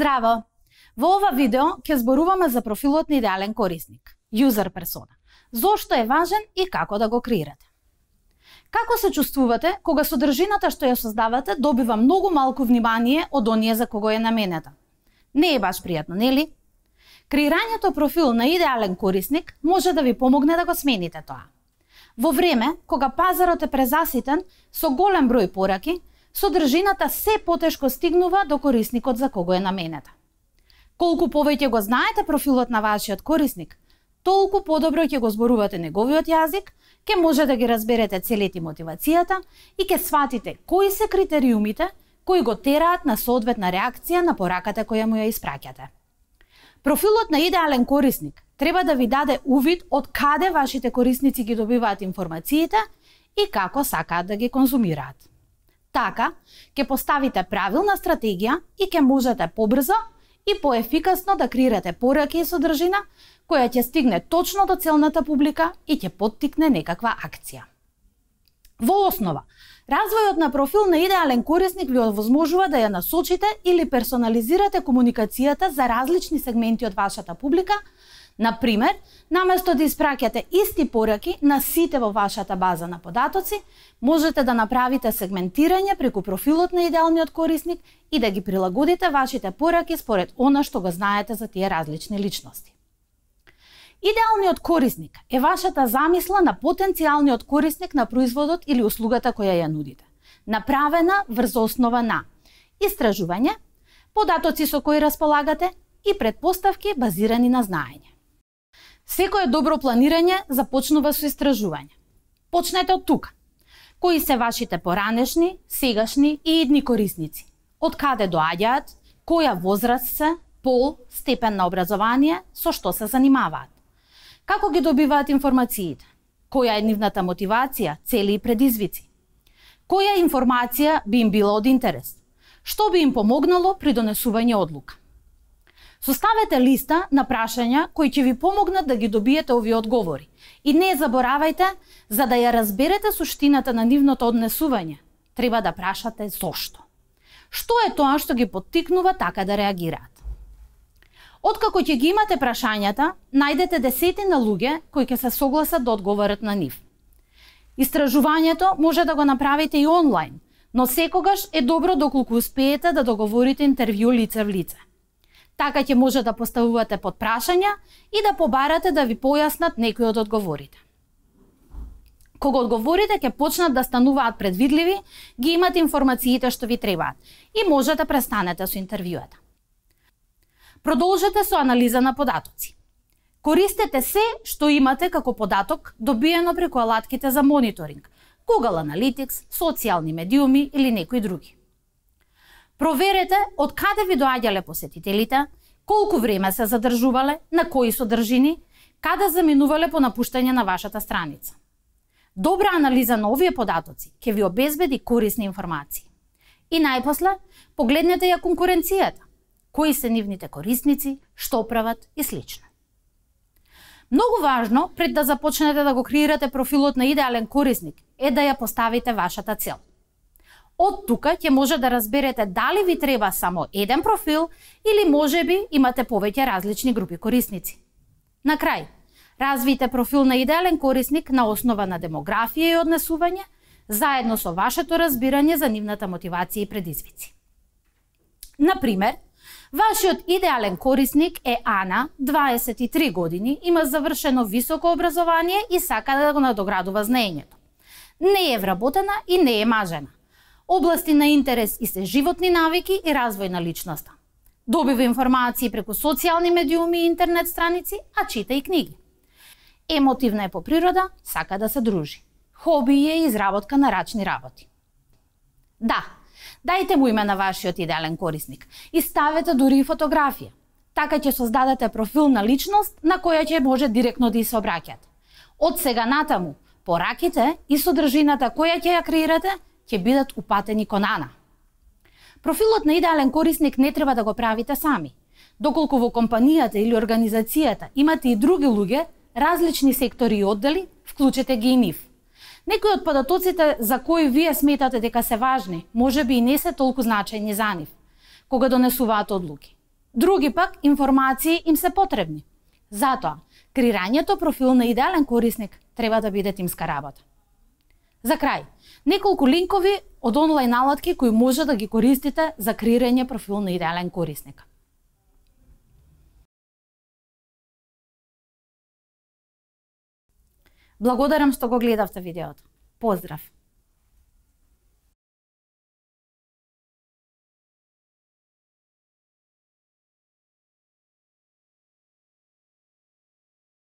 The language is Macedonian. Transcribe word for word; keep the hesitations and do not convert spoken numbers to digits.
Здраво! Во ова видео ќе зборуваме за профилот на идеален корисник, user persona. Зошто е важен и како да го креирате. Како се чувствувате кога содржината што ја создавате добива многу малку внимание од оние за кого е наменета? Не е баш пријатно, нели? Креирањето профил на идеален корисник може да ви помогне да го смените тоа. Во време кога пазарот е презаситен со голем број пораки, содржината се потешко стигнува до корисникот за кого е наменета. Колку повеќе го знаете профилот на вашиот корисник, толку подобро ќе го зборувате неговиот јазик, ќе може да ги разберете целите мотивацијата и ќе сватите кои се критериумите кои го тераат на соодветна реакција на пораката која му ја испраќате. Профилот на идеален корисник треба да ви даде увид од каде вашите корисници ги добиваат информациите и како сакаат да ги конзумираат. Така, ќе поставите правилна стратегија и ќе можете побрзо и поефикасно да креирате пораки и содржина која ќе стигне точно до целната публика и ќе поттикне некаква акција. Во основа, развојот на профил на идеален корисник ви овозможува да ја насочите или персонализирате комуникацијата за различни сегменти од вашата публика. Например, наместо да испраќате исти пораки на сите во вашата база на податоци, можете да направите сегментирање преку профилот на идеалниот корисник и да ги прилагодите вашите пораки според она што го знаете за тие различни личности. Идеалниот корисник е вашата замисла на потенцијалниот корисник на производот или услугата која ја нудите, направена врз основа на истражување, податоци со кои располагате и претпоставки базирани на знаење. Секое добро планирање започнува со истражување. Почнете од тука. Кои се вашите поранешни, сегашни и идни корисници? Од каде доаѓаат? Која возраст се? Пол, степен на образование, со што се занимаваат? Како ги добиваат информациите? Која е нивната мотивација, цели и предизвици? Која информација би им била од интерес? Што би им помогнало при донесување одлука? Составете листа на прашања кои ќе ви помогнат да ги добиете овие одговори. И не заборавајте, за да ја разберете суштината на нивното однесување, треба да прашате зошто. Што е тоа што ги поттикнува така да реагираат? Откако ќе ги имате прашањата, најдете десетина луѓе кои ќе се согласат да одговорат на нив. Истражувањето може да го направите и онлайн, но секогаш е добро доколку успеете да договорите интервју лице в лице. Така ќе може да поставувате подпрашања и да побарате да ви појаснат некои од одговорите. Кога одговорите ќе почнат да стануваат предвидливи, ги имате информациите што ви требаат и може да престанете со интервјуата. Продолжете со анализа на податоци. Користете се што имате како податок добиено преку алатките за мониторинг, Google Analytics, социјални медиуми или некои други. Проверете од каде ви доаѓале посетителите, колку време се задржувале, на кои содржини, каде заминувале по напуштање на вашата страница. Добра анализа на овие податоци ќе ви обезбеди корисни информации. И најпосле, погледнете ја конкуренцијата, кои се нивните корисници, што прават и слично. Многу важно, пред да започнете да го креирате профилот на идеален корисник, е да ја поставите вашата цел. Од тука ќе може да разберете дали ви треба само еден профил или можеби имате повеќе различни групи корисници. На крај, развијте профил на идеален корисник на основа на демографија и однесување, заедно со вашето разбирање за нивната мотивација и предизвици. Например, вашиот идеален корисник е Ана, дваесет и три години, има завршено високо образование и сака да го надоградува знаењето. Не е вработена и не е мажена. Области на интерес и се животни навики и развој на личноста. Добива информации преку социјални медиуми и интернет страници, а чита и книги. Емотивна е по природа, сака да се дружи. Хоби е изработка на рачни работи. Да, дајте му име на вашиот идеален корисник и ставете дури и фотографија. Така ќе создадете профил на личност на која ќе може директно да се обраќате. Од сега натаму, пораките и содржината која ќе ја креирате ќе бидат упатени кон Ана. Профилот на идеален корисник не треба да го правите сами. Доколку во компанијата или организацијата имате и други луѓе, различни сектори и оддели, вклучете ги и нив. Некои од податоците за кои вие сметате дека се важни, може би и не се толку значајни за нив, кога донесуваат одлуки. Други пак информации им се потребни. Затоа, креирањето профил на идеален корисник треба да биде тимска работа. За крај, неколку линкови од онлайн алатки кои може да ги користите за креирање профил на идеален корисник. Благодарам што го гледавте видеото. Поздрав!